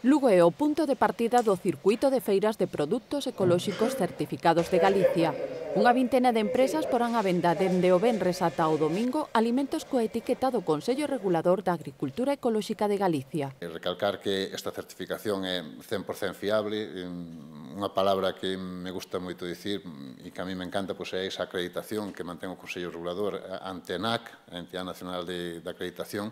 Lugo é o punto de partida do circuito de feiras de produtos ecolóxicos certificados de Galicia. Unha vintena de empresas porán á venda dende o venres ata o domingo alimentos coa etiqueta do Consello Regulador da Agricultura Ecolóxica de Galicia. Recalcar que esta certificación é 100% fiable, unha palabra que me gusta moito dicir e que a mí me encanta é esa acreditación que mantén o Consello Regulador ante a ENAC, a Entidade Nacional de Acreditación,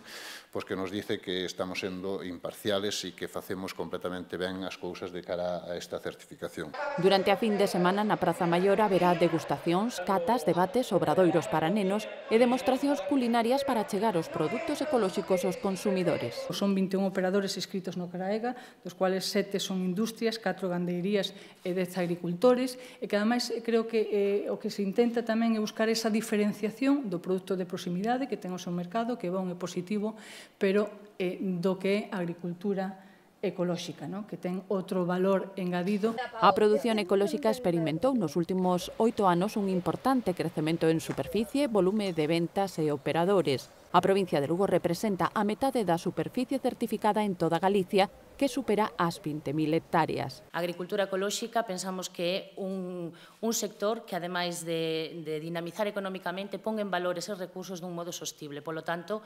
que nos dice que estamos sendo imparciales e que facemos completamente ben as cousas de cara a esta certificación. Durante a fin de semana na Praza Maior haberá degustacións, catas, debates, obradoiros para nenos e demostracións culinarias para chegar os produtos ecolóxicos aos consumidores. Son 21 operadores inscritos no CRAEGA, dos cuales 7 son industrias, 4 gandeirías e 10 agricultores, e que ademais creo que o que se intenta tamén é buscar esa diferenciación do produto de proximidade que ten o seu mercado, que é bon e positivo, pero do que é a agricultura ecolóxica, que ten outro valor engadido. A produción ecolóxica experimentou nos últimos 8 anos un importante crecemento en superficie, volume de ventas e operadores. A provincia de Lugo representa a metade da superficie certificada en toda Galicia, que supera as 20.000 hectáreas. A agricultura ecolóxica pensamos que é un sector que, ademais de dinamizar económicamente, pon en valor eses recursos dun modo sostible. Polo tanto,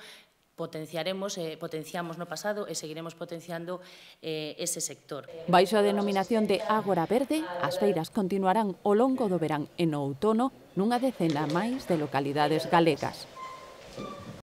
potenciamos no pasado e seguiremos potenciando ese sector. Baixo a denominación de Ágora Verde, as feiras continuarán ao longo do verán e no outono nunha decena máis de localidades galegas.